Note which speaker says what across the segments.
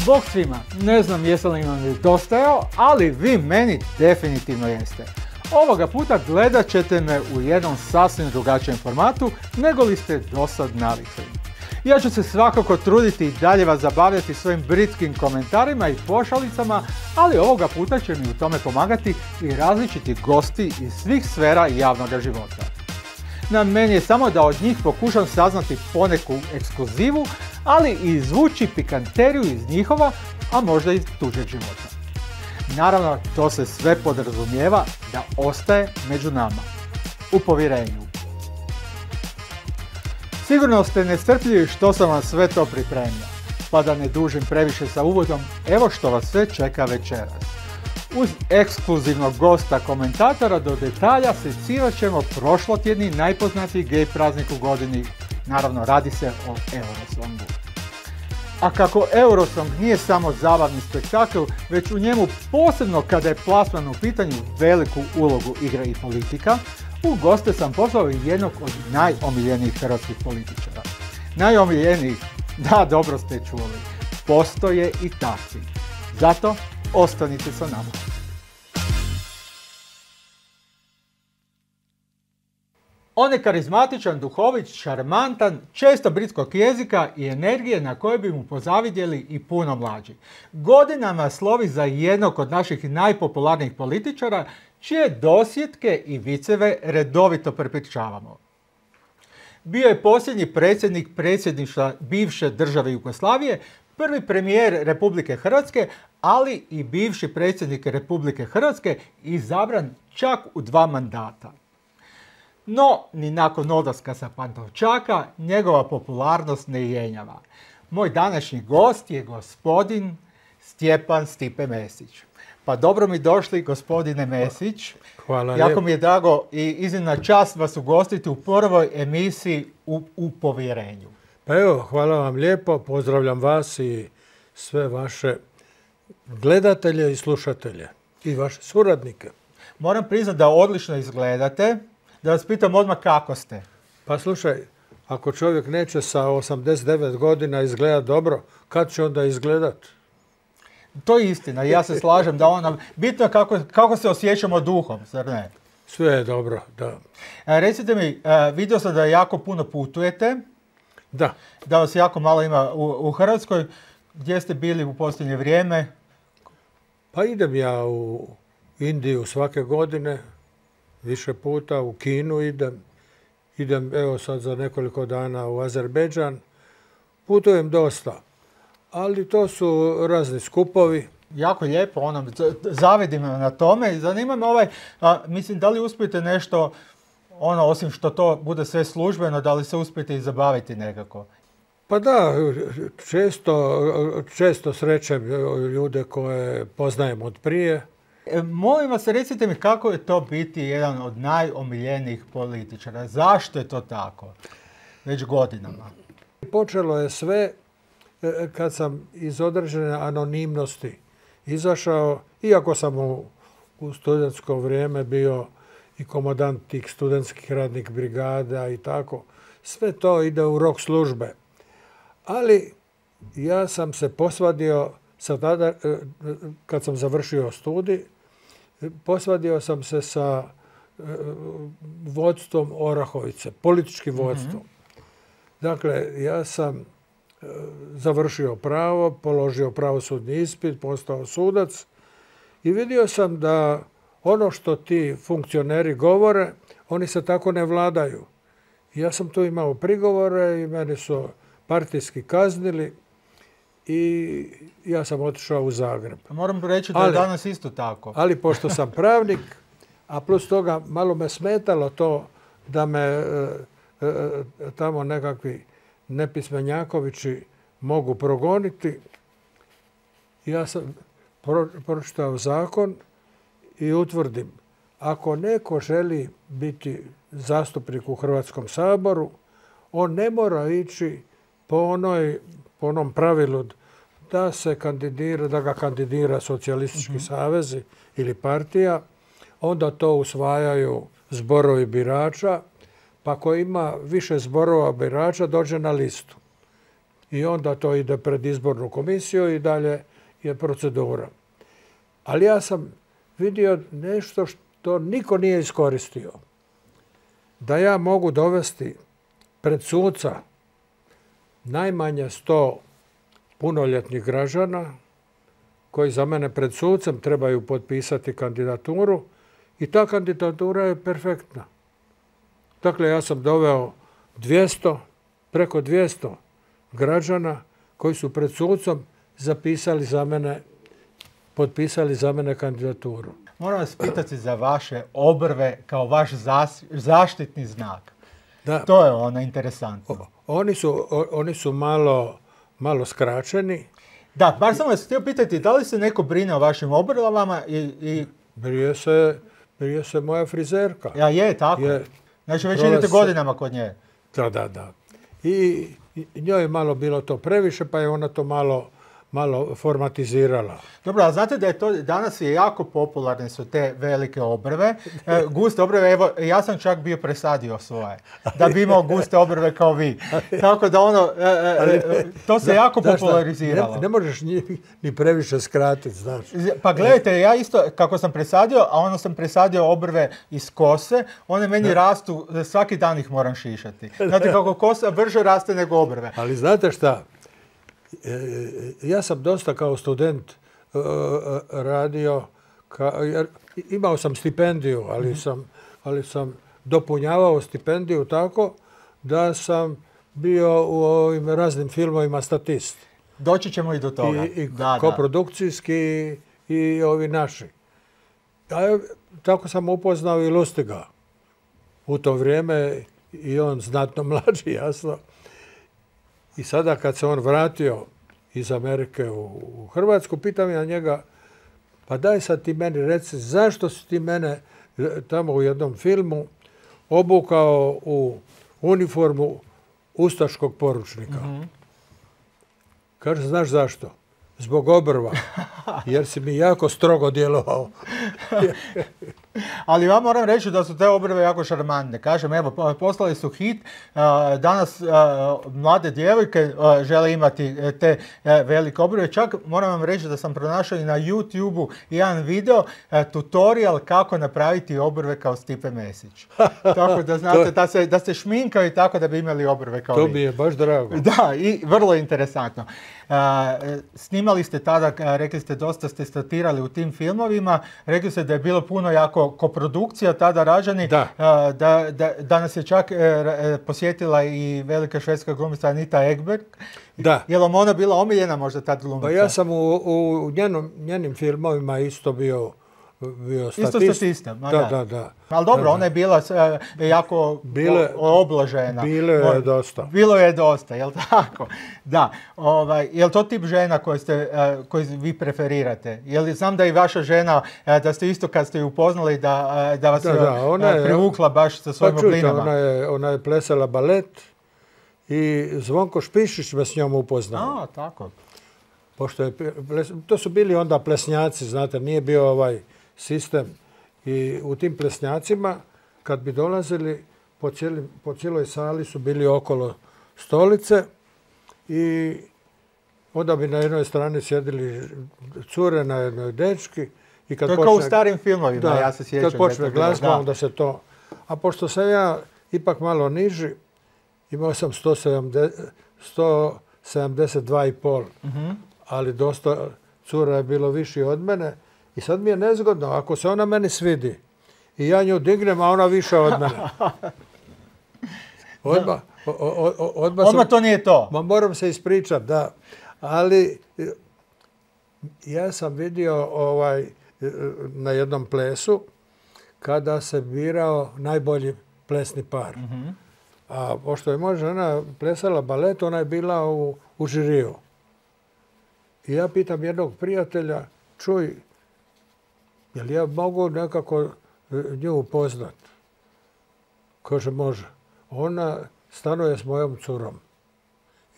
Speaker 1: Bog svima, ne znam jesi li vam nedostajao, ali vi meni definitivno jeste. Ovoga puta gledat ćete me u jednom sasvim drugačijem formatu nego li ste dosad navikli. Ja ću se svakako truditi i dalje vas zabavljati svojim britskim komentarima i pošalicama, ali ovoga puta će mi u tome pomagati i različiti gosti iz svih sfera javnog života. Na meni je samo da od njih pokušam saznati poneku ekskluzivu, ali i izvući pikanteriju iz njihova, a možda iz tuđeg života. Naravno, to se sve podrazumijeva da ostaje među nama, u povjerenju. Sigurno ste nestrpljivi što sam vam sve to pripremio, pa da ne dužim previše sa uvodom, evo što vas sve čeka večeras. Uz ekskluzivnog gosta komentatora do detalja secirat ćemo prošlotjedni najpoznatiji gej praznik u godini, naravno radi se o Eurosongu. A kako Eurosong nije samo zabavni spektakl, već u njemu posebno kada je plasman u pitanju veliku ulogu igra i politika, u goste sam pozvao jednog od najomiljenijih hrvatskih političara. Najomiljenijih, da dobro ste čuli, postoje i takvi. Zato ostanite sa nama. On je karizmatičan, duhovit, šarmantan, često britskog jezika i energije na koje bi mu pozavidjeli i puno mlađi. Godinama slovi za jednog od naših najpopularnijih političara, čije dosjetke i viceve redovito prepričavamo. Bio je posljednji predsjednik predsjedništva bivše države Jugoslavije, prvi premijer Republike Hrvatske, ali i bivši predsjednik Republike Hrvatske izabran čak u 2 mandata. No, ni nakon odlaska sa Pantovčaka, njegova popularnost ne jenjava. Moj današnji gost je gospodin Stjepan Stipe Mesić. Pa dobro mi došli, gospodine Mesić.
Speaker 2: Hvala
Speaker 1: jako
Speaker 2: lijepo.
Speaker 1: mi je drago i iznimna čast vas ugostiti u prvoj emisiji u povjerenju.
Speaker 2: Pa evo, hvala vam lijepo, pozdravljam vas i sve vaše gledatelje i slušatelje i vaše suradnike.
Speaker 1: Moram priznati da odlično izgledate, da vas pitam odmah kako ste.
Speaker 2: Pa slušaj, ako čovjek neće sa 89 godina izgledat dobro, kad će onda izgledat?
Speaker 1: To je istina, ja se slažem da ona, bitno je kako se osjećamo duhom, zar ne?
Speaker 2: Sve je dobro, da.
Speaker 1: Recite mi, vidio sam da jako puno putujete,
Speaker 2: Da.
Speaker 1: da vas jako malo ima u Hrvatskoj. Gdje ste bili u posljednje vrijeme?
Speaker 2: Pa idem ja u Indiju svake godine, više puta, u Kinu idem evo sad za nekoliko dana u Azerbejdžan, putujem dosta, ali to su razni skupovi.
Speaker 1: Jako lijepo, zavidim na tome. Zanima me mislim, da li uspijete nešto, osim što to bude sve službeno, da li se uspijete i zabaviti nekako?
Speaker 2: Pa da, često srećem ljude koje poznajem od prije.
Speaker 1: Molim vas, recite mi kako je to biti jedan od najomiljenijih političara. Zašto je to tako? Već godinama.
Speaker 2: Počelo je sve kad sam iz određene anonimnosti izašao, iako sam u studentsko vrijeme bio i komandant tih studentskih radnih brigada i tako. Sve to ide u rok službe. Ali ja sam se posvadio, kad sam završio studij, posvadio sam se sa vodstvom Orahovice, političkim vodstvom. Dakle, ja sam završio pravo, položio pravosudni ispit, postao sudac i vidio sam da ono što ti funkcioneri govore, oni se tako ne vladaju. Ja sam tu imao prigovore i meni su partijski kaznili i ja sam otišao u Zagreb.
Speaker 1: Moram reći da je danas isto tako.
Speaker 2: Ali pošto sam pravnik, a plus toga malo me smetalo to da me tamo nekakvi nepismenjakovići mogu progoniti, ja sam pročitao zakon i utvrdim, ako neko želi biti zastupnik u Hrvatskom saboru, on ne mora ići po onom pravilu da ga kandidira socijalistički savezi ili partija, onda to usvajaju zborovi birača, pa ako ima više zborova birača dođe na listu. i onda to ide pred izbornu komisiju i dalje je procedura. Ali ja sam vidio nešto što niko nije iskoristio. Da ja mogu dovesti pred suca najmanje 100 punoljetnih građana koji za mene pred sucem trebaju potpisati kandidaturu i ta kandidatura je perfektna. Dakle, ja sam doveo preko 200 građana koji su pred sucom potpisali za mene kandidaturu.
Speaker 1: Moram vas pitati za vaše obrve kao vaš zaštitni znak. Da. To je interesantno.
Speaker 2: Oni su malo skraćeni.
Speaker 1: Da, bar sam vas htio pitati, da li se neko brine o vašim obrvama i...
Speaker 2: Brije se moja frizerka.
Speaker 1: Ja, je, tako. Znači, već idete godinama kod nje.
Speaker 2: Da. I njoj je malo bilo to previše, pa je ona to malo formatizirala.
Speaker 1: Dobro, a znate da je to, danas je jako popularne su te velike obrve, guste obrve, evo, ja sam čak bio presadio svoje, da bi imao guste obrve kao vi. Tako da to se jako populariziralo.
Speaker 2: Ne možeš ni previše skratiti, znaš.
Speaker 1: Pa gledajte, ja isto, kako sam presadio, a sam presadio obrve iz kose, one meni rastu, svaki dan ih moram šišati. Znate kako kosa brže raste nego obrve.
Speaker 2: Ali znate šta? Ja sam dosta kao student radio, jer imao sam stipendiju, ali sam dopunjavao stipendiju tako da sam bio u ovim raznim filmovima statist.
Speaker 1: Doći ćemo i do toga.
Speaker 2: I koprodukcijski i ovi naši. Tako sam upoznao i Lustiga. U to vrijeme i on znatno mlađi, jasno. I sada kad se on vratio iz Amerike u Hrvatsku, pitam ja njega, pa daj sad ti meni reci, zašto si ti mene tamo u jednom filmu obukao u uniformu ustaškog poručnika? Kaže, znaš zašto? Zbog obrva, jer si mi jako strogo djelovao.
Speaker 1: Ali ja moram reći da su te obrve jako šarmantne. Kažem, evo, poslali su hit. Danas mlade djevojke žele imati te velike obrve. Čak moram vam reći da sam pronašao i na YouTube-u jedan video, tutorial kako napraviti obrve kao Stipe Mesić. Tako da znate da se šminkaju tako da bi imali obrve kao vi.
Speaker 2: To mi je baš drago.
Speaker 1: Da, i vrlo interesantno. Snimali ste tada, rekli ste, dosta ste statirali u tim filmovima. Rekli ste da je bilo puno jako koprodukcija tada rađani. Da nas je čak posjetila i velika švedska glumica Anita Ekberg.
Speaker 2: Da.
Speaker 1: Je li ona bila omiljena možda tad glumica?
Speaker 2: Pa ja sam u njenim filmovima isto bio statist.
Speaker 1: Isto statista.
Speaker 2: Da.
Speaker 1: Ali dobro, ona je bila jako obložena. Bilo je dosta, jel tako? Da. Je li to tip žena koji vi preferirate? Znam da i vaša žena, da ste isto kad ste ju upoznali, da vas privukla baš sa svojim oblinama?
Speaker 2: Ona je plesala balet i Zvonko Špišić me s njom upoznao.
Speaker 1: Tako.
Speaker 2: To su bili onda plesnjaci, znate, nije bio ovaj sistem. I u tim plesnjacima, kad bi dolazili, po cijeloj sali su bili okolo stolice i onda bi na jednoj strani sjedili cure, na jednoj dečki.
Speaker 1: To je kao u starim filmovima, ja se sjećam.
Speaker 2: Kad počne glazba, onda se to... A pošto sam ja ipak malo niži, imao sam 172,5, ali dosta cura je bilo viši od mene. I sad mi je nezgodno, ako se ona meni svidi i ja nju dignem, a ona više od mene.
Speaker 1: Odmah to nije to.
Speaker 2: Moram se ispričati, da. Ali ja sam vidio na jednom plesu kada se birao najbolji plesni par. A pošto je moja žena plesala balet, ona je bila u žiriju. I ja pitam jednog prijatelja, čuj, jel ja mogu nekako nju upoznat? Kaže, može. Ona stanuje s mojom curom.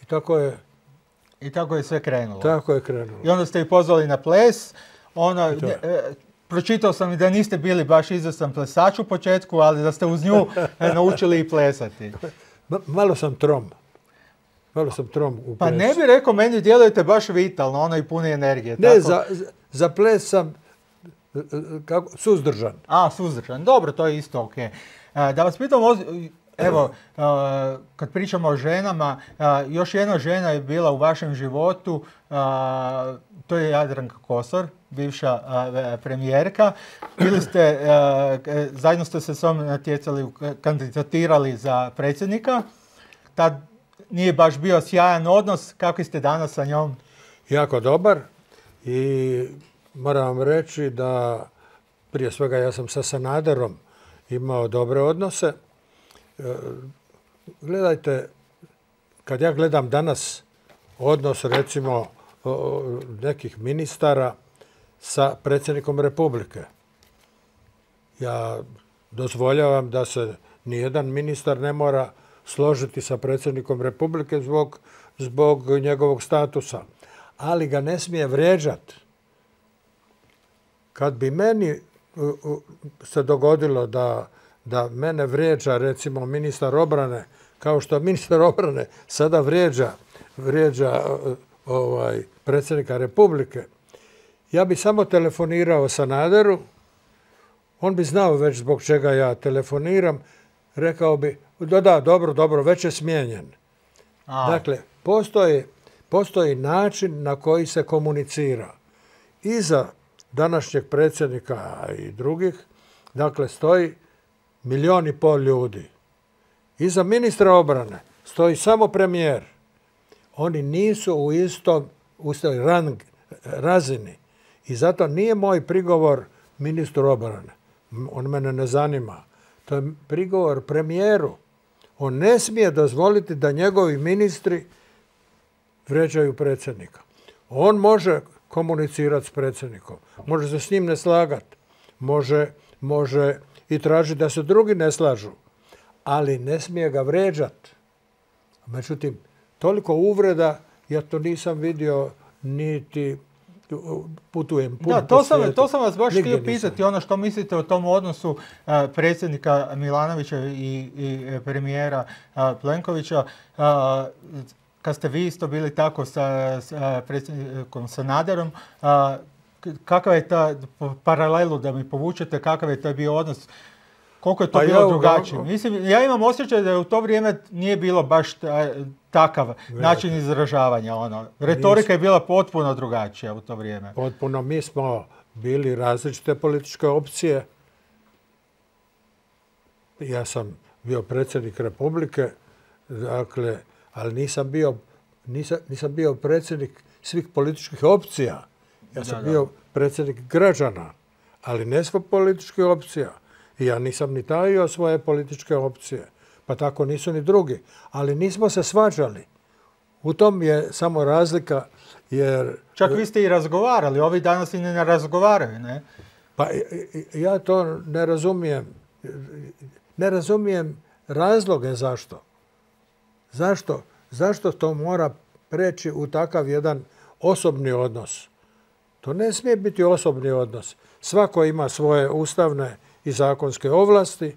Speaker 2: I tako je
Speaker 1: sve krenulo.
Speaker 2: Tako je krenulo.
Speaker 1: I onda ste ih pozvali na ples. Pročitao sam i da niste bili baš izvrstan plesač u početku, ali da ste uz nju naučili i plesati.
Speaker 2: Malo sam trom. Malo sam trom u plesu.
Speaker 1: Pa ne bi rekao, meni djelujete baš vitalno, ono i puni energije.
Speaker 2: Ne,
Speaker 1: tako?
Speaker 2: za ples sam suzdržan.
Speaker 1: Suzdržan. Dobro, to je isto ok. Da vas pitam, evo, kad pričamo o ženama, još jedna žena je bila u vašem životu, to je Jadranka Kosor, bivša premijerka. Zajedno ste se s njom natjecali, kandidatirali za predsjednika. Tad nije baš bio sjajan odnos. Kako ste danas sa njom?
Speaker 2: Jako dobar i moram vam reći da prije svega ja sam sa Sanaderom imao dobre odnose. Gledajte, kad ja gledam danas odnos recimo nekih ministara sa predsjednikom Republike, ja dozvoljavam da se nijedan ministar ne mora složiti sa predsjednikom Republike zbog njegovog statusa, ali ga ne smije vrijeđati. Kad bi meni se dogodilo da mene vrijeđa recimo ministar obrane, kao što ministar obrane sada vrijeđa predsjednika Republike, ja bi samo telefonirao Sanaderu, on bi znao već zbog čega ja telefoniram, rekao bi, da, dobro, već je smijenjen. Dakle, postoji način na koji se komunicira. Iza današnjeg predsjednika i drugih, dakle, stoji 1,5 milijuna ljudi. Iza ministra obrane stoji samo premijer. Oni nisu u istoj razini. I zato nije moj prigovor ministru obrane. On mene ne zanima. To je prigovor premijeru. On ne smije dozvoliti da njegovi ministri vrijeđaju predsjednika. On može komunicirati s predsjednikom. Može se s njim ne slagati. Može i tražiti da se drugi ne slažu. Ali ne smije ga vrijeđati. Međutim, toliko uvreda ja to nisam vidio niti putujem puno po svijetu.
Speaker 1: To sam vas baš htio pitati, ono što mislite o tom odnosu predsjednika Milanovića i premijera Plenkovića. Kad ste vi isto bili tako sa predsjednikom Sanaderom, kakav je ta paralelu da mi povučete, kakav je to bio odnos? Koliko je to bilo drugačije? Mislim, ja imam osjećaj da u to vrijeme nije bilo baš takav način izražavanja. Retorika je bila potpuno drugačija u to vrijeme.
Speaker 2: Potpuno. Mi smo bili različite političke opcije. Ja sam bio predsjednik Republike, dakle, ali nisam bio predsjednik svih političkih opcija. Ja sam bio predsjednik građana, ali ne svih političkih opcija. I ja nisam ni tajio svoje političke opcije, pa tako nisu ni drugi. Ali nismo se svađali. U tom je samo razlika jer...
Speaker 1: Čak vi ste i razgovarali, ovi danas i ne razgovaraju, ne?
Speaker 2: Pa ja to ne razumijem. Ne razumijem razloge zašto. Zašto to mora preći u takav jedan osobni odnos? To ne smije biti osobni odnos. Svako ima svoje ustavne i zakonske ovlasti,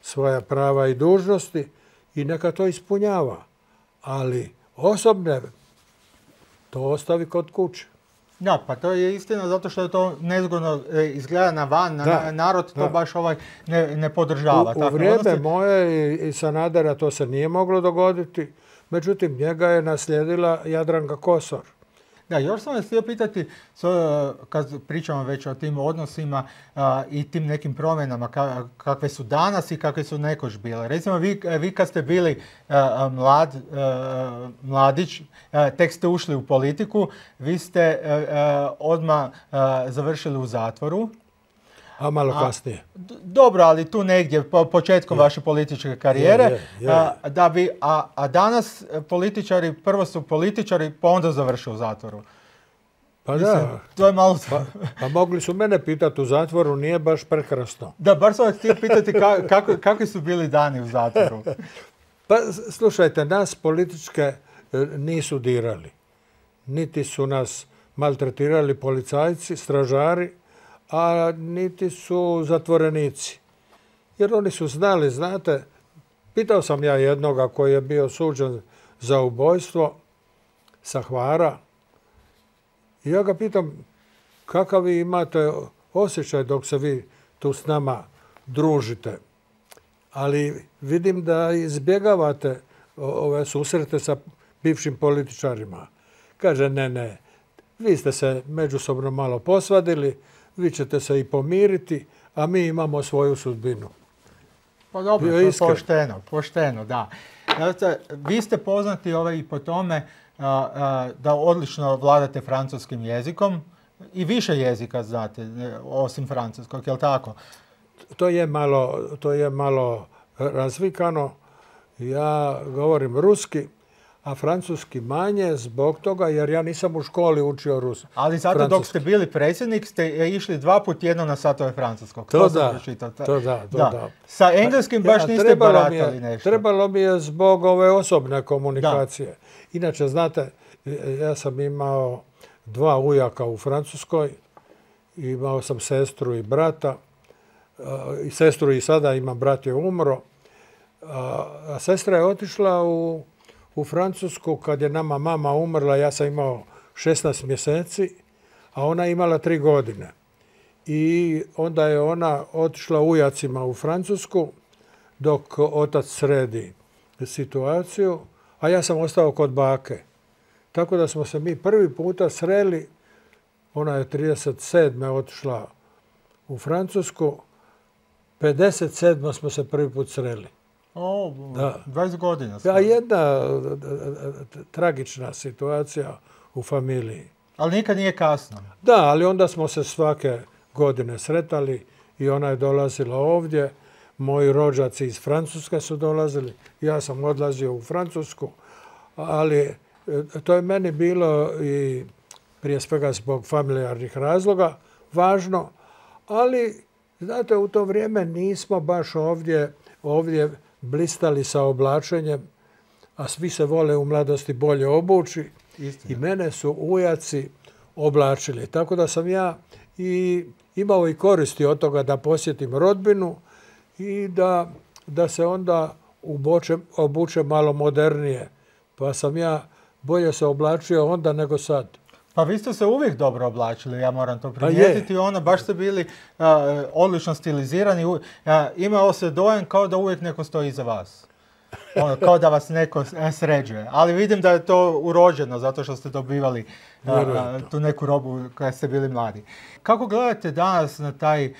Speaker 2: svoja prava i dužnosti i neka to ispunjava. Ali osobne to ostavi kod kuće.
Speaker 1: Da, pa to je istina zato što je to nezgodno izgleda na van, narod to baš ne podržava.
Speaker 2: U vrijeme moje i Sanadera to se nije moglo dogoditi, međutim njega je naslijedila Jadranka Kosor.
Speaker 1: Da, još sam vas htio pitati, kad pričamo već o tim odnosima i tim nekim promjenama, kakve su danas i kakve su nekoć bile. Recimo, vi kad ste bili mladić, tek ste ušli u politiku, vi ste odmah završili u zatvoru.
Speaker 2: A malo kasnije.
Speaker 1: Dobro, ali tu negdje, početkom vaše političke karijere. A danas političari, prvo su političari, pa onda završe u zatvoru.
Speaker 2: Pa da.
Speaker 1: To je malo...
Speaker 2: Pa mogli su mene pitati u zatvoru, nije baš prekrasno.
Speaker 1: Da, bar sam vas htio pitati kakvi su bili dani u zatvoru.
Speaker 2: Pa slušajte, nas političke nisu dirali. Niti su nas maltretirali policajci, stražari, a niti su zatvorenici. Jer oni su znali, znate, pitao sam ja jednoga koji je bio suđen za ubojstvo sa Hvara. I ja ga pitam kakav vi imate osjećaj dok se vi tu s nama družite. Ali vidim da izbjegavate ove susrete sa bivšim političarima. Kaže, ne, vi ste se međusobno malo posvadili, vi ćete se i pomiriti, a mi imamo svoju sudbinu.
Speaker 1: Pa dobro, pošteno, da. Vi ste poznati i po tome da odlično vladate francuskim jezikom i više jezika znate, osim francuskog, je li tako?
Speaker 2: To je malo razvikano. Ja govorim ruski, a francuski manje zbog toga jer ja nisam u školi učio ruski.
Speaker 1: Ali zato dok ste bili predsjednik ste išli 2 puta tjedno na satove francuskog.
Speaker 2: To da.
Speaker 1: Sa engleskim baš niste baratali nešto.
Speaker 2: Trebalo mi je zbog ove osobne komunikacije. Inače, znate, ja sam imao 2 ujaka u Francuskoj, imao sam sestru i brata. I sestru i sada imam, brat je umro. A sestra je otišla u Francusku kad je nama mama umrla, ja sam imao 16 mjeseci, a ona je imala 3 godine. I onda je ona otišla ujacima u Francusku dok otac sredi situaciju, a ja sam ostao kod bake. Tako da smo se mi prvi puta sreli, ona je 37. otišla u Francusku, 57. smo se prvi put sreli.
Speaker 1: 20 godina.
Speaker 2: Da, jedna tragična situacija u familiji.
Speaker 1: Ali nikad nije kasno.
Speaker 2: Da, ali onda smo se svake godine sretali i ona je dolazila ovdje. Moji rođaci iz Francuske su dolazili. Ja sam odlazio u Francusku. Ali to je meni bilo i prije svega zbog familijarnih razloga važno. Ali, znate, u to vrijeme nismo baš ovdje blistali sa oblačenjem, a svi se vole u mladosti bolje obući. Istina. I mene su ujaci oblačili. Tako da sam ja i imao i koristi od toga da posjetim rodbinu i da se onda obučem malo modernije. Pa sam ja bolje se oblačio onda nego sad.
Speaker 1: Pa vi ste se uvijek dobro oblačili, ja moram to primijetiti. Baš ste bili odlično stilizirani. Imao se dojam kao da uvijek neko stoji iza vas. Kao da vas neko sređuje. Ali vidim da je to urođeno zato što ste dobivali tu neku robu kada ste bili mladi. Kako gledate danas na taj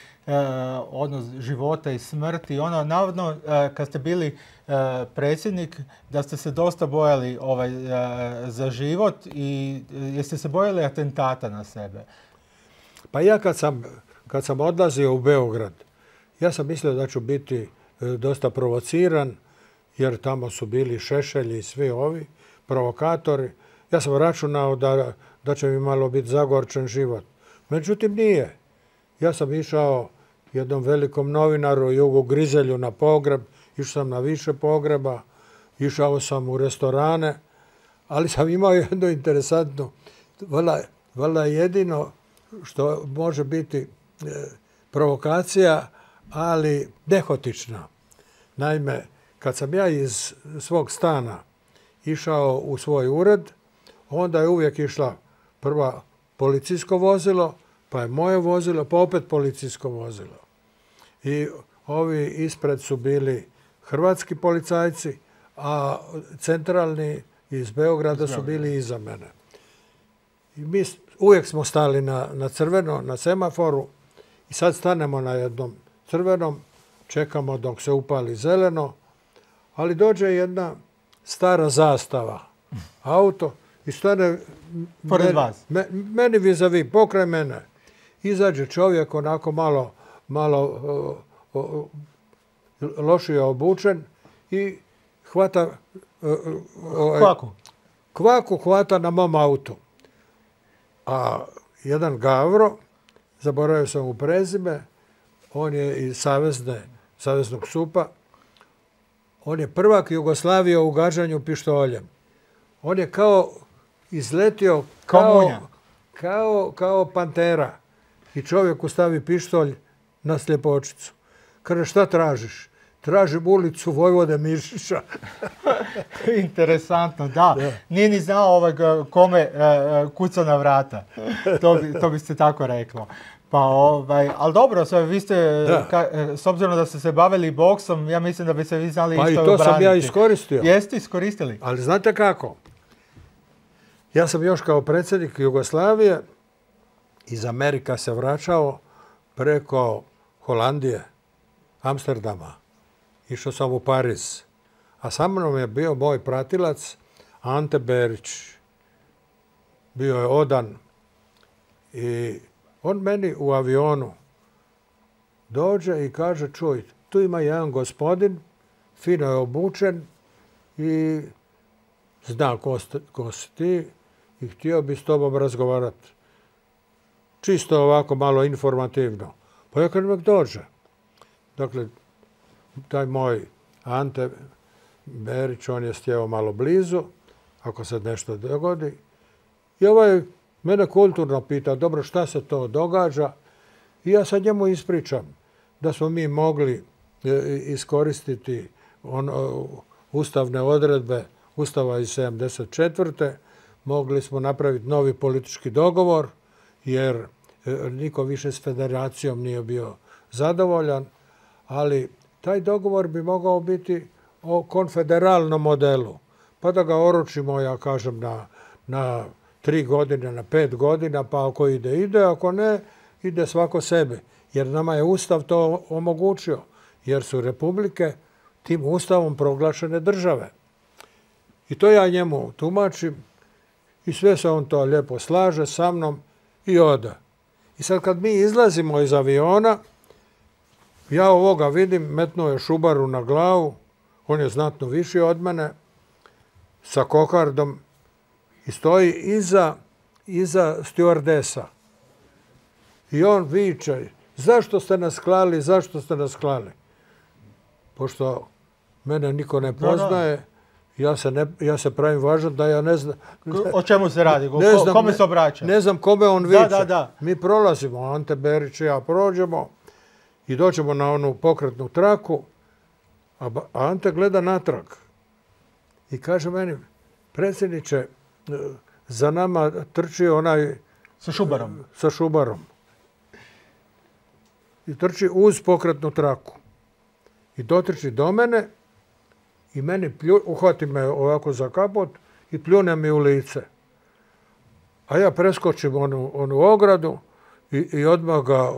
Speaker 1: odnos života i smrti? Navodno, kad ste bili predsjednik, da ste se dosta bojali za život i jeste se bojali atentata na sebe?
Speaker 2: Pa ja kad sam odlazio u Beograd, ja sam mislio da ću biti dosta provociran, jer tamo su bili Šešelj i svi ovi provokatori. Ja sam računao da će mi malo biti zagorčen život. Međutim, nije. Ja sam išao jednom velikom novinaru, Jugu Grizelju, na pogreb. Išao sam na više pogreba. Išao sam u restorane. Ali sam imao jedno interesantno, valjda jedino što može biti provokacija, ali nehotična. Naime, kad sam ja iz svog stana išao u svoj ured, onda je uvijek išla prva policijsko vozilo, pa je moje vozilo, pa opet policijsko vozilo. I ovi ispred su bili hrvatski policajci, a centralni iz Beograda su bili iza mene. I mi uvijek smo stali na crveno, na semaforu i sad stanemo na jednom crvenom, čekamo dok se upali zeleno, ali dođe jedna stara zastava, auto, i stane meni vis-a-vis, pokraj mene. Izađe čovjek onako malo lošije obučen i hvata kvaku hvata na mom autu. A jedan Gavro, zaboravio sam mu prezime, on je iz Saveznog SUP-a, on je prvak Jugoslavije u gađanju pištoljem. On je kao izletio kao pantera i čovjeku stavi pištolj na sljepočicu. Kaže, šta tražiš? tražim ulicu Vojvode Mišića.
Speaker 1: Interesantno, da. Nije ni znao kome kuca na vrata. To bi se tako reklo. Pa, ali dobro, vi ste, s obzirom da ste se bavili boksom, ja mislim da bi se vi znali isto obraniti.
Speaker 2: Pa i to sam ja iskoristio.
Speaker 1: Jeste iskoristili?
Speaker 2: Ali znate kako? Ja sam još kao predsjednik Jugoslavije iz Amerika se vraćao preko Holandije, Amsterdama. Išao sam u Pariz. A sa mnom je bio moj pratilac Ante Berić. Bio je odan i on meni u avionu dođe i kaže, čuj, tu ima jedan gospodin, fino je obučen i zna ko si ti i htio bi s tobom razgovarati. Čisto ovako malo informativno. Pa ja kad nek dođe. Dakle, taj moj Ante Berić, on je stjeo malo blizu, ako se nešto dogodi. I mene kulturno pita, dobro, šta se to događa? I ja sad njemu ispričam da smo mi mogli iskoristiti ustavne odredbe Ustava iz 1974. Mogli smo napraviti novi politički dogovor, jer niko više s federacijom nije bio zadovoljan, ali taj dogovor bi mogao biti o konfederalnom modelu. Pa da ga oročimo, ja kažem, na 3 godine, na 5 godina, pa ako ide, ako ne, ide svako sebi. Jer nama je Ustav to omogućio, jer su republike tim Ustavom proglašene države. I to ja njemu tumačim i sve se on to lijepo slaže sa mnom i ode. I sad kad mi izlazimo iz aviona, ja ovoga vidim, metnuo je šubaru na glavu, on je znatno viši od mene, sa kokardom i stoji iza stjuardesa. I on viče, zašto ste nas klali, zašto ste nas klali? Pošto mene niko ne poznaje, ja se pravim važan da ja ne znam.
Speaker 1: O čemu se radi? Kome se obraća?
Speaker 2: Ne znam kome on viče.
Speaker 1: Da.
Speaker 2: Mi prolazimo, Ante Berić i ja prođemo i dođemo na onu pokretnu traku, a Ante gleda natrag i kaže meni, predsjedniče, za nama trči onaj... Sa šubarom. I trči uz pokretnu traku. I dotrči do mene i meni uhvati me ovako za kapot i pljune mi u lice. A ja preskočim onu ogradu i odmah ga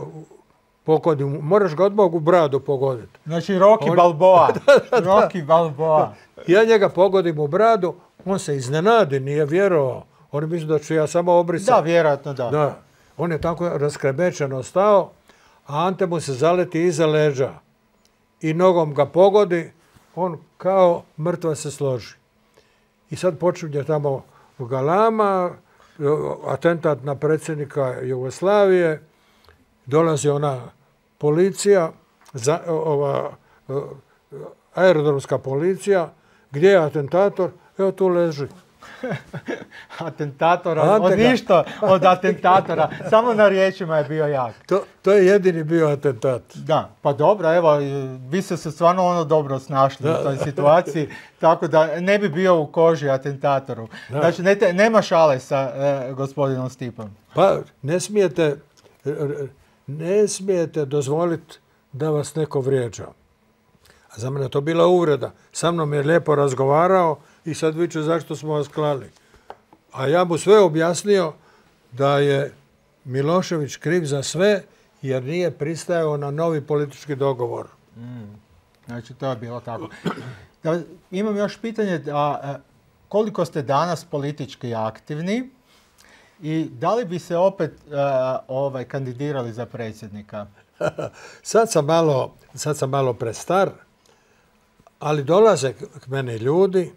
Speaker 2: pogodim. Moraš ga odmah u bradu pogoditi.
Speaker 1: Znači Rocky Balboa. Rocky Balboa.
Speaker 2: Ja njega pogodim u bradu, on se iznenadi, nije vjerovao. On misli da ću ja samo obrisati.
Speaker 1: Da, vjerojatno da.
Speaker 2: On je tako raskrebečeno stao, a Ante mu se zaleti iza leđa i nogom ga pogodi, on kao mrtva se složi. I sad počinje tamo galama, atentat na predsjednika Jugoslavije, dolazi ona policija, aerodromska policija, gdje je atentator? Evo tu leži.
Speaker 1: Atentatora, ništa od atentatora, samo na riječima je bio jak.
Speaker 2: To je jedini bio atentat.
Speaker 1: Da, pa dobro, evo, vi ste se stvarno dobro snašli u toj situaciji, tako da ne bi bio u koži atentatoru. Da. Znači, nema šale sa gospodinom Stipom.
Speaker 2: Pa, ne smijete dozvoliti da vas neko vrijeđa. A za mene je to bila uvreda. Sa mnom je lijepo razgovarao i sad viče zašto smo vas klali. A ja mu sve objasnio da je Milošević kriv za sve jer nije pristajao na novi politički dogovor.
Speaker 1: Znači to je bilo tako. Imam još pitanje, koliko ste danas politički aktivni i da li bi se opet kandidirali za predsjednika?
Speaker 2: Sad sam malo prestar, ali dolaze k meni ljudi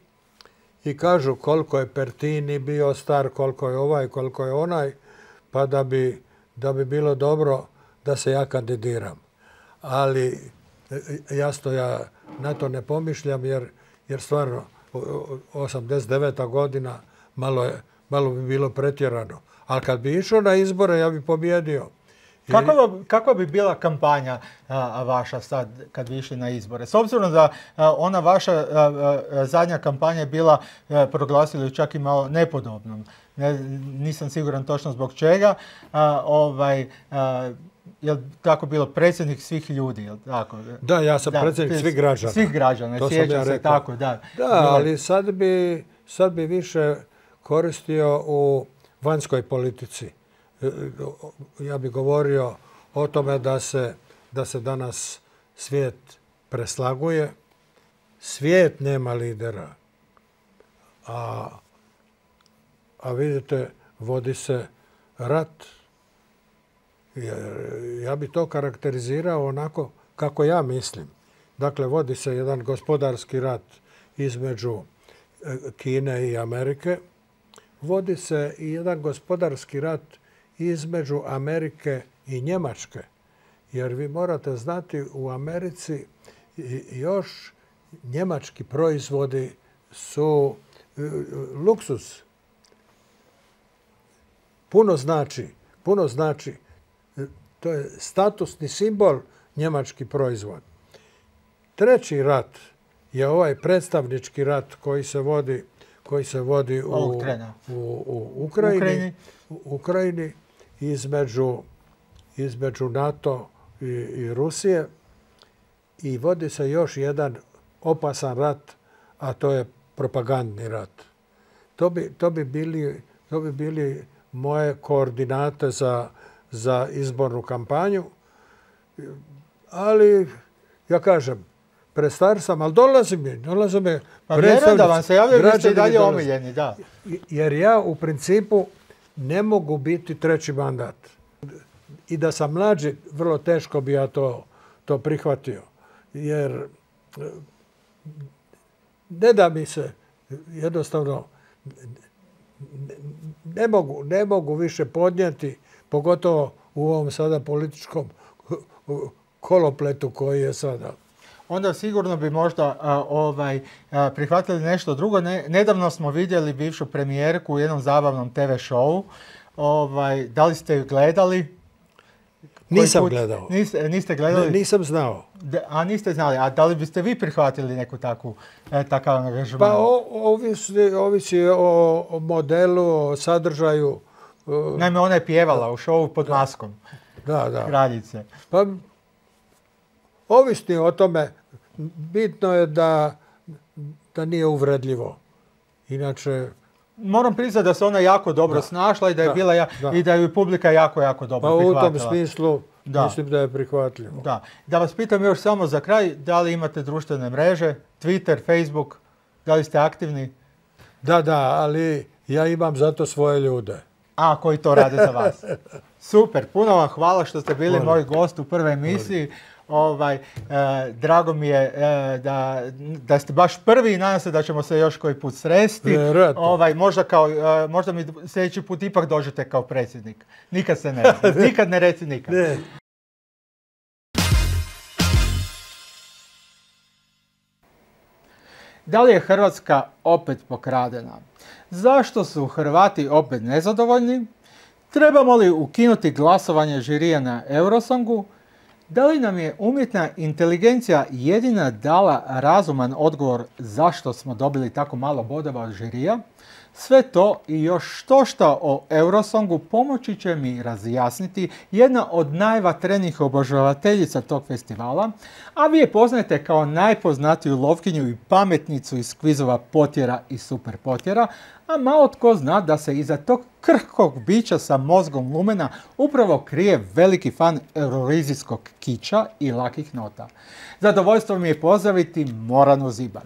Speaker 2: i kažu koliko je Pertini bio star, koliko je ovaj, koliko je onaj, pa da bi bilo dobro da se ja kandidiram. Ali jasno ja na to ne pomišljam jer stvarno 89. godina malo bi bilo pretjerano. Ali kad bi išao na izbore ja bi pobjedio.
Speaker 1: Kakva bi bila kampanja vaša sad kad bi išli na izbore? S obzirom da ona vaša zadnja kampanja je bila, proglasili čak i malo nepodobnom. Nisam siguran točno zbog čega. Je li tako bilo predsjednik svih ljudi? Je li tako?
Speaker 2: Da, ja sam predsjednik svih građana.
Speaker 1: Svih građana, sjećam se tako, da.
Speaker 2: Da, ali sad bi više koristio u vanjskoj politici. Ja bih govorio o tome da se danas svijet preslaguje. Svijet nema lidera. A vidite, vodi se rat. Ja bi to karakterizirao onako kako ja mislim. Dakle, vodi se jedan gospodarski rat između Kine i Amerike. Vodi se i jedan gospodarski rat između Amerike i Njemačke. Jer vi morate znati, u Americi još njemački proizvodi su luksuz. Puno znači. To je statusni simbol njemački proizvod. Treći rat je ovaj predstavnički rat koji se vodi u Ukrajini između NATO i Rusije, i vodi se još jedan opasan rat, a to je propagandni rat. To bi bili moje koordinate za izbornu kampanju, ali ja kažem, prestar sam, ali dolazi mi.
Speaker 1: Pa vjerujem da vam se javljaju, vi ste i dalje omiljeni, da.
Speaker 2: Jer ja u principu ne mogu biti treći mandat. I da sam mlađi, vrlo teško bi ja to prihvatio. Jer ne da mi se, jednostavno, ne mogu više podnijeti, pogotovo u ovom sada političkom kolopletu koji je sada.
Speaker 1: Onda sigurno bi možda prihvatili nešto drugo. Nedavno smo vidjeli bivšu premijerku u jednom zabavnom TV showu. Da li ste ju gledali?
Speaker 2: Nisam gledao.
Speaker 1: Niste gledali?
Speaker 2: Nisam znao.
Speaker 1: A niste znali. A da li biste vi prihvatili neku takav angažman?
Speaker 2: Pa ovisi o modelu, o sadržaju.
Speaker 1: Naime, ona je pjevala u showu pod maskom.
Speaker 2: Da.
Speaker 1: Kraljice.
Speaker 2: Pa ovisni o tome. Bitno je da nije uvredljivo. Inače...
Speaker 1: Moram priznati da se ona jako dobro snašla i da je bila i da je publika jako dobro prihvatila.
Speaker 2: Pa u tom smislu mislim da je prihvatljivo.
Speaker 1: Da vas pitam još samo za kraj, da li imate društvene mreže, Twitter, Facebook, da li ste aktivni?
Speaker 2: Da, ali ja imam zato svoje ljude.
Speaker 1: Koji to rade za vas. Super, puno vam hvala što ste bili moj gost u prvoj emisiji. Drago mi je da ste baš prvi i nadam se da ćemo se još koji put sresti. Možda mi sljedeći put ipak dođete kao predsjednik. Nikad se ne reci. Nikad ne reci nikad. Ne. Da li je Hrvatska opet pokradena? Zašto su Hrvati opet nezadovoljni? Trebamo li ukinuti glasovanje žirija na Eurosongu? Da li nam je umjetna inteligencija jedina dala razuman odgovor zašto smo dobili tako malo bodova od žirija? Sve to i još štošta o Eurosongu pomoći će mi razjasniti jedna od najvatrenijih obožavateljica tog festivala, a vi je poznajete kao najpoznatiju lovkinju i pametnicu iz kvizova Potjera i Super Potjera, a malo tko zna da se iza tog krhkog bića sa mozgom lumena upravo krije veliki fan eurovizijskog kiča i lakih nota. Zadovoljstvo mi je pozdraviti Moranu Zibar.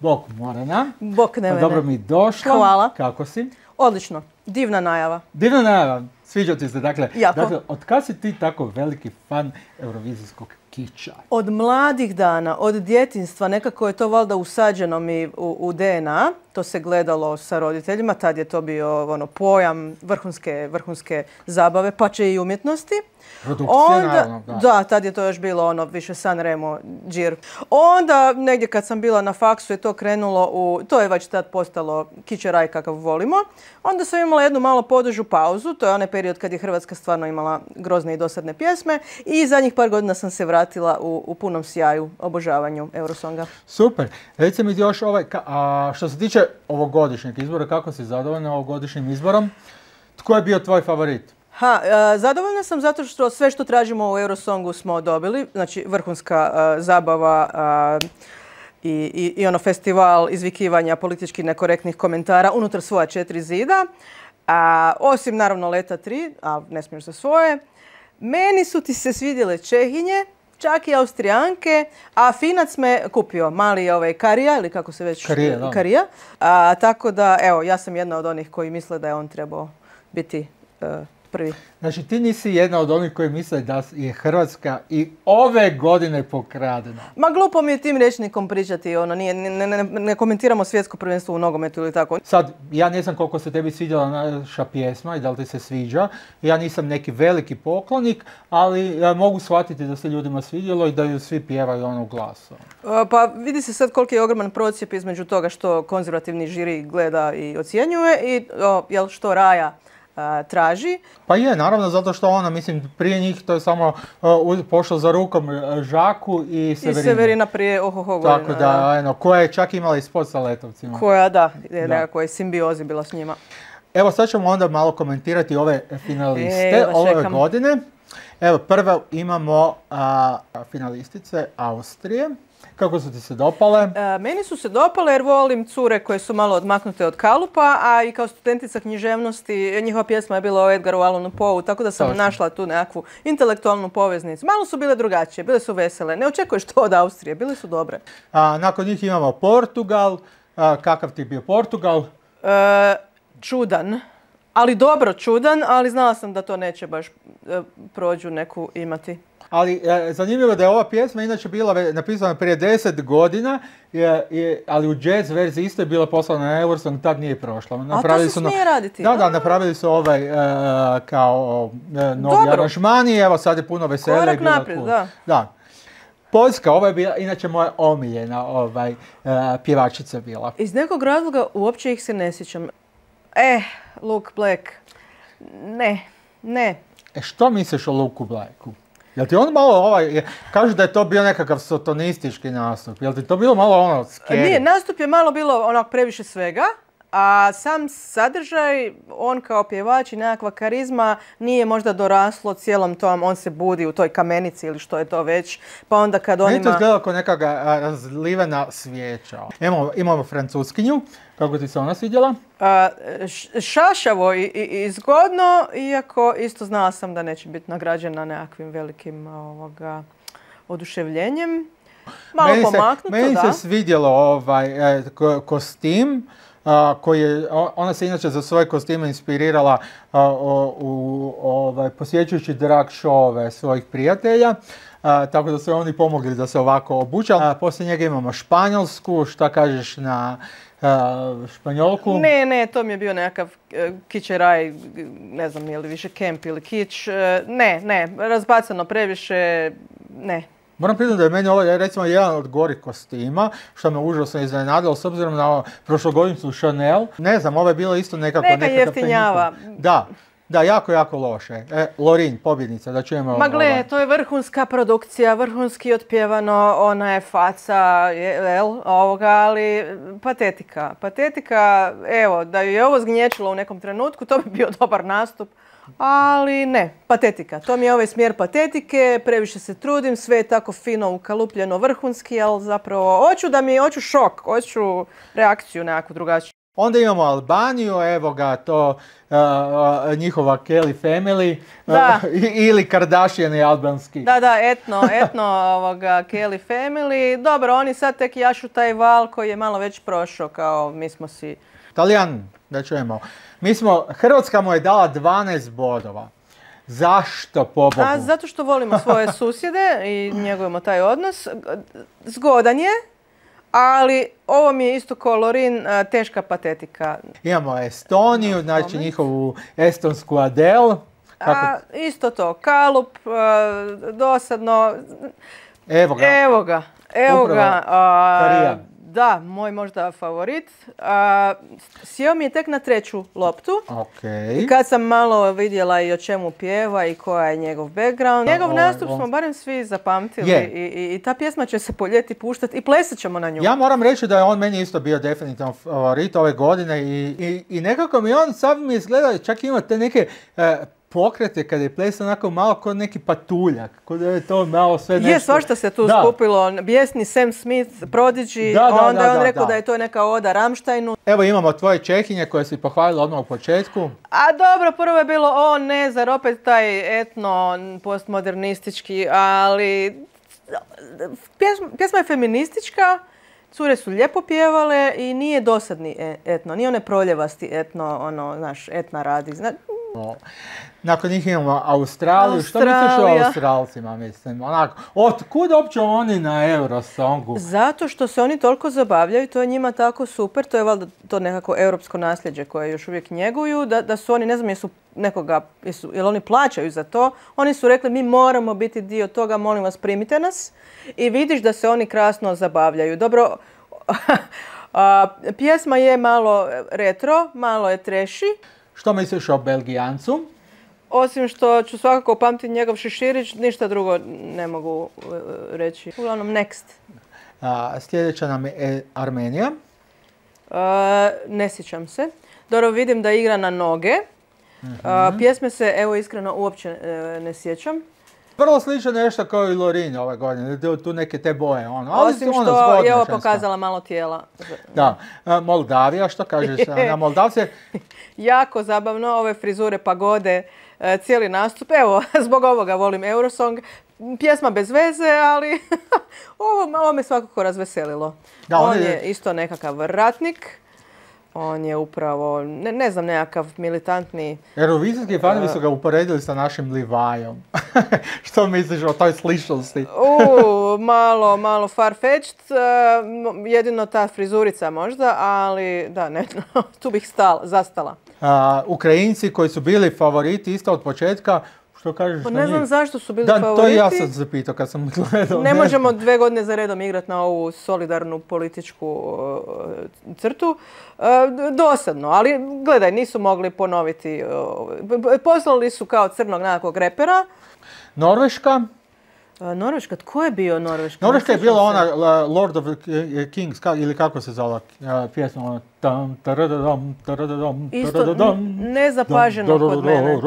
Speaker 1: Bok Morana.
Speaker 3: Bok Nevene.
Speaker 1: Dobro mi došla.
Speaker 3: Hvala.
Speaker 1: Kako si?
Speaker 3: Odlično. Divna najava.
Speaker 1: Divna najava. Sviđa ti se.
Speaker 3: Jako.
Speaker 1: Dakle, od kad si ti tako veliki fan eurovizijskog kiča? kiča.
Speaker 3: Od mladih dana, od djetinjstva, nekako je to valjda usađeno mi u DNA. To se gledalo sa roditeljima, tad je to bio pojam vrhunske zabave, pa će i umjetnosti.
Speaker 1: Produkcije, naravno, da.
Speaker 3: Da, tad je to još bilo više San Remo, džir. Onda, negdje kad sam bila na faksu je to krenulo to je već tad postalo kičeraj kakav volimo. Onda sam imala jednu malo podužu pauzu, to je onaj period kad je Hrvatska stvarno imala grozne i dosadne pjesme i zadnjih par godina sam se vratila u punom sjaju, obožavanju Eurosonga.
Speaker 1: Super. Reci mi još što se tiče ovogodišnjeg izbora, kako si zadovoljna ovogodišnjim izborom? Tko je bio tvoj favorit?
Speaker 3: Zadovoljna sam zato što sve što tražimo u Eurosongu smo dobili. Znači, vrhunska zabava i festival izvikivanja politički nekorektnih komentara unutar svoja 4 zida. Osim, naravno, Leta 3, a ne smiješ za svoje. Meni su ti se svidjele Čehinje, čak i Austrijanke, a Finac me kupio, mali Karija, ili kako se već... Karija. Tako da, evo, ja sam jedna od onih koji misle da je on trebao biti prvi.
Speaker 1: Znači, ti nisi jedna od onih koji misle da je Hrvatska i ove godine pokradena.
Speaker 3: Ma glupo mi je tim rječnikom pričati, ne komentiramo svjetsko prvenstvo u nogometu ili tako.
Speaker 1: Sad, ja ne znam koliko se tebi svidjela naša pjesma i da li ti se sviđa. Ja nisam neki veliki poklonik, ali mogu shvatiti da se ljudima svidjelo i da ju svi pjevaju glasom.
Speaker 3: Pa vidi se sad koliki je ogroman procijep između toga što konzervativni žiri gleda i ocjenjuje i što Raja traži.
Speaker 1: Pa je, naravno, zato što ona, mislim, prije njih to je samo pošlo za rukom Žaku i Severina.
Speaker 3: I Severina prije godina.
Speaker 1: Tako da, koja je čak imala i spot sa letovcima.
Speaker 3: Koja, da, nekakvoj simbiozi bila s njima.
Speaker 1: Evo, sad ćemo onda malo komentirati ove finaliste ove godine. Evo, prvo imamo finalistice Austrije. Kako su ti se dopale?
Speaker 3: Meni su se dopale jer volim cure koje su malo odmaknute od kalupa, a i kao studentica književnosti njihova pjesma je bila o Edgaru Allanu Poeu, tako da sam našla tu nekakvu intelektualnu poveznicu. Malo su bile drugačije, bile su vesele. Ne očekuješ to od Austrije, bile su dobre.
Speaker 1: Nakon njih imamo Portugal. Kakav ti je bio Portugal?
Speaker 3: Čudan. Ali dobro čudan, ali znala sam da to neće baš prođu neku imati.
Speaker 1: Ali zanimljivo da je ova pjesma inače bila napisana prije 10 godina, ali u jazz verziji isto je bila poslana na Eurosong, tad nije prošla.
Speaker 3: A to se smije raditi?
Speaker 1: Da, napravili su kao novi aranžmani, evo sad je puno veselja.
Speaker 3: Korak naprijed,
Speaker 1: da. Poljska, ovo je bila inače moja omiljena pjevačica bila.
Speaker 3: Iz nekog razloga uopće ih se ne sjećam. Luke Black. Ne.
Speaker 1: Što misliš o Luku Blacku? Jel ti on malo kažu da je to bio nekakav sotonistički nastup, jel ti to bilo malo scary?
Speaker 3: Nije, nastup je malo bilo previše svega, a sam sadržaj, on kao pjevač i nekakva karizma nije možda doraslo cijelom tom, on se budi u toj kamenici ili što je to već, pa onda kad on ima...
Speaker 1: Meni to izgleda kao nekakva razlivena svijeća. Imamo Francuskinju, kako ti se ona svidjela?
Speaker 3: Šašavo i zgodno, iako isto znala sam da neće biti nagrađena nekakvim velikim oduševljenjem. Malo pomaknuto, da.
Speaker 1: Meni se svidjelo kostim. Ona se inače za svoje kostime inspirirala posjećujući drag showove svojih prijatelja, tako da su oni pomogli da se ovako obuče. Poslije njega imamo Španjolsku, šta kažeš na Španjolku?
Speaker 3: Ne, to mi je bio nekakav kičeraj, ne znam je li više kemp ili kič, ne, razbacano previše, ne.
Speaker 1: Moram priznati da je meni ovo recimo jedan od gorih kostima, što me užasno iznenadilo s obzirom na prošlogodišnju Chanel. Ne znam, ovo je bilo isto
Speaker 3: neka jeftinjava.
Speaker 1: Da, jako loše. Lorin, pobjednica, da čujemo...
Speaker 3: Ma gle, to je vrhunska produkcija, vrhunski otpjevano, ona je faca, ali patetika. Patetika, evo, da ju je ovo zgnječilo u nekom trenutku, to bi bio dobar nastup. Ali ne, patetika. To mi je ovaj smjer patetike, previše se trudim, sve je tako fino ukalupljeno vrhunski, ali zapravo hoću šok, hoću reakciju nekakvu drugačiju.
Speaker 1: Onda imamo Albaniju, evo ga to njihova Kelly family ili Kardashian albanski.
Speaker 3: Da, etno Kelly family. Dobro, oni sad tek jašu taj val koji je malo već prošao, kao mi smo si...
Speaker 1: Talijan, da čujemo. Hrvatska mu je dala 12 bodova. Zašto, pobogu?
Speaker 3: Zato što volimo svoje susjede i njegujemo taj odnos. Zgodan je, ali ovo mi je isto Lorin, teška patetika.
Speaker 1: Imamo Estoniju, znači njihovu estonsku Adele.
Speaker 3: Isto to, kalup, dosadno.
Speaker 1: Evo ga.
Speaker 3: Evo ga.
Speaker 1: Karijan.
Speaker 3: Da, moj možda favorit. Sjeo mi je tek na 3. loptu.
Speaker 1: Okay.
Speaker 3: I kad sam malo vidjela i o čemu pjeva i koja je njegov background. Njegov nastup smo barem svi zapamtili i ta pjesma će se po ljeti puštati i plesat ćemo na nju.
Speaker 1: Ja moram reći da je on meni isto bio definitivno favorit ove godine i nekako mi on sad mi izgleda, čak ima te neke pokrete kada je plesao onako malo kao neki patuljak, kao da je to malo sve nešto.
Speaker 3: Svašta se tu skupilo, bijesni Sam Smith, Prodigy, onda je on rekao da je to neka oda Rammsteinu.
Speaker 1: Evo imamo tvoje Čehinje koje si pohvalila odmah u početku.
Speaker 3: A dobro, prvo je bilo zar opet taj etno postmodernistički, ali pjesma je feministička, cure su lijepo pjevale i nije dosadni etno, nije one proljevasti etno, etna radi.
Speaker 1: Nakon njih imamo Australiju. Što misliš o Australcima, mislim? Otkud uopće oni na Eurosongu?
Speaker 3: Zato što se oni toliko zabavljaju, to je njima tako super, to je valjda to nekako europsko nasljeđe koje još uvijek njeguju, da su oni, ne znam jel oni plaćaju za to, oni su rekli mi moramo biti dio toga, molim vas primite nas i vidiš da se oni krasno zabavljaju. Dobro, pjesma je malo retro, malo je trashy.
Speaker 1: Što misliš o Belgijancu?
Speaker 3: Osim što ću svakako pamtiti njegov šeširić, ništa drugo ne mogu reći. Uglavnom, next.
Speaker 1: Sljedeća nam je Armenija.
Speaker 3: Ne sjećam se. Dobro, vidim da igra na noge. Pjesme se, evo iskreno, uopće ne sjećam.
Speaker 1: Vrlo slično nešto kao i Lorin ove godine, tu neke te boje.
Speaker 3: Osim što je ovo pokazala malo tijela.
Speaker 1: Da. Moldavija, što kažeš na Moldavce?
Speaker 3: Jako zabavno, ove frizure, pagode, cijeli nastup. Evo, zbog ovoga volim Eurosong. Pjesma bez veze, ali ovo me svakako razveselilo. On je isto nekakav ratnik. On je upravo, ne znam, nekakav militantni...
Speaker 1: Eurovizijski fanovi su ga uporedili sa našim Livajom. Što misliš o toj sličnosti?
Speaker 3: Malo far-fetched, jedino ta frizurica možda, ali da, ne, tu bih zastala.
Speaker 1: Ukrajinci koji su bili favoriti isto od početka, što kažeš na njih?
Speaker 3: Ne znam zašto su bili favoriti.
Speaker 1: To i ja sam zapitao kad sam gledao.
Speaker 3: Ne možemo 2 godine za redom igrati na ovu solidarnu političku crtu. Dosadno, ali gledaj, nisu mogli ponoviti. Poslali su kao crnog nekakvog repera.
Speaker 1: Norveška?
Speaker 3: Norveška, tko je bio Norveška?
Speaker 1: Norveška je bila ona Lord of the Kings, ili kako se zvala pjesma?
Speaker 3: Isto nezapaženo kod mene.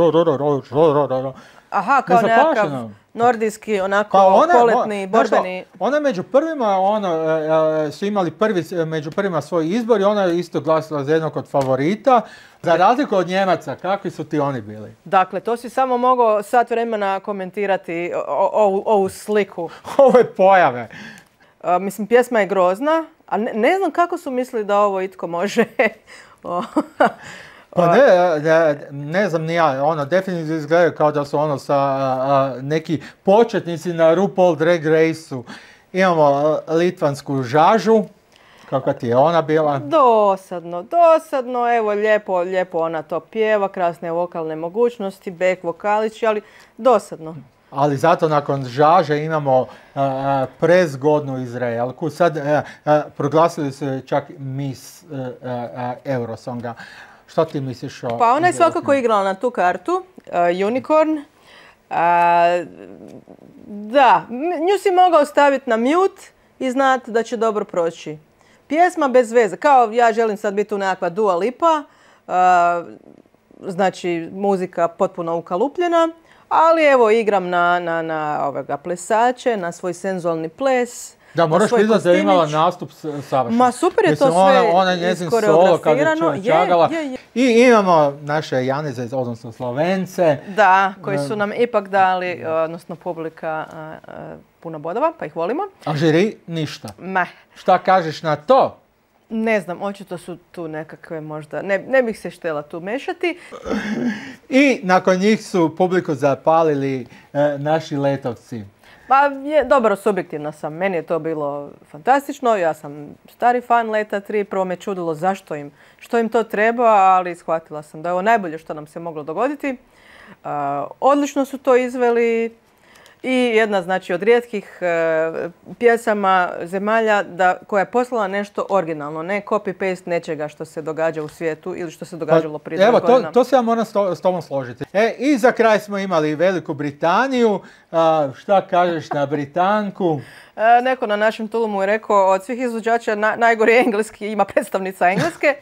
Speaker 3: Aha, kao nekakav nordijski, onako poletni, borbeni.
Speaker 1: Ona među prvima, su imali među prvima svoj izbor i ona je isto glasila za jednog od favorita. Za razliku od Njemaca, kakvi su ti oni bili?
Speaker 3: Dakle, to si samo mogao sat vremena komentirati ovu sliku.
Speaker 1: Ove pojave.
Speaker 3: Mislim, pjesma je grozna, a ne znam kako su mislili da ovo itko može...
Speaker 1: Pa ne znam ni ja, definitivno izgledaju kao da su neki početnici na RuPaul Drag Race-u. Imamo litvansku Žažu, kako ti je ona bila?
Speaker 3: Dosadno, evo lijepo ona to pjeva, krasne vokalne mogućnosti, back vokalići, ali dosadno.
Speaker 1: Ali zato nakon Žaže imamo prezgodnu Izraelku. Sad proglasili su čak Miss Eurosonga. Što ti misliš o...
Speaker 3: Pa ona je svakako igrala na tu kartu, Unicorn. Da, nju si mogao staviti na mute i znati da će dobro proći. Pjesma bez veze, kao ja želim sad biti tu nekakva Dua Lipa, znači muzika potpuno ukalupljena, ali evo igram na plesače, na svoj senzualni ples.
Speaker 1: Da, moraš priznati da je imala nastup savršen.
Speaker 3: Ma super je to sve
Speaker 1: ona njezin solo kad je čagala. I imamo naše Janice, odnosno Slovence.
Speaker 3: Da, koji su nam ipak dali, odnosno publika, puno bodova, pa ih volimo.
Speaker 1: A žiri ništa.
Speaker 3: Meh.
Speaker 1: Šta kažeš na to?
Speaker 3: Ne znam, očito su tu nekakve možda, ne bih se htjela tu mešati.
Speaker 1: I nakon njih su publiku zapalili naši letovci.
Speaker 3: Pa dobro, subjektivna sam. Meni je to bilo fantastično. Ja sam stari fan Leta 3. Prvo me čudilo što im to treba, ali shvatila sam da je ovo najbolje što nam se moglo dogoditi. Odlično su to izveli i jedna znači od rijetkih pjesama zemalja koja je poslala nešto originalno, ne copy-paste nečega što se događa u svijetu ili što se događalo prije 2 godina.
Speaker 1: Evo, to se ja moram s tobom složiti. I za kraj smo imali Veliku Britaniju. Šta kažeš na Britanku?
Speaker 3: Neko na našem Tulumu je rekao od svih izvođača najgori engleski, ima predstavnica Engleske.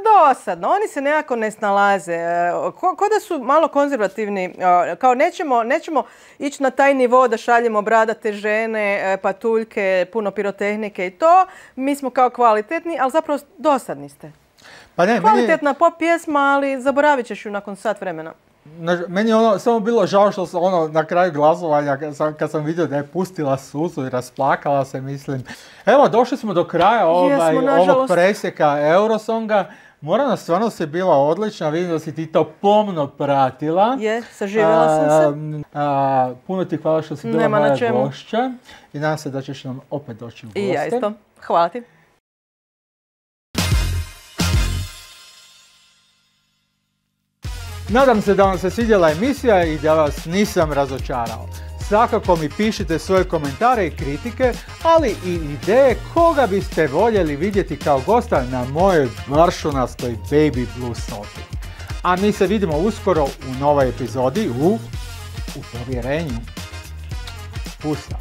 Speaker 3: Dosadno, oni se nekako ne snalaze. Ko da su malo konzervativni, kao nećemo ići na taj nivo da šaljemo bradate žene, patuljke, puno pirotehnike i to. Mi smo kao kvalitetni, ali zapravo dosadni ste.
Speaker 1: Pa ne,
Speaker 3: kvalitetna pop pjesma, ali zaboravit ćeš ju nakon sat vremena.
Speaker 1: Meni je samo bilo žao što se na kraju glasovanja, kad sam vidio da je pustila suzu i rasplakala se, mislim. Evo, došli smo do kraja ovog presjeka Eurosonga. Morana, stvarno si bila odlična, vidim da si ti to pomno pratila.
Speaker 3: Saživjela sam se.
Speaker 1: Puno ti hvala što si bila moja gošća i nadam se da ćeš nam opet doći u goste.
Speaker 3: I ja isto. Hvala ti.
Speaker 1: Nadam se da vam se svidjela emisija i da vas nisam razočarao. Svakako mi pišite svoje komentare i kritike, ali i ideje koga biste voljeli vidjeti kao gosta na mojoj vršunastoj Baby Blue sofi. A mi se vidimo uskoro u novoj epizodi u povjerenju. Pusta.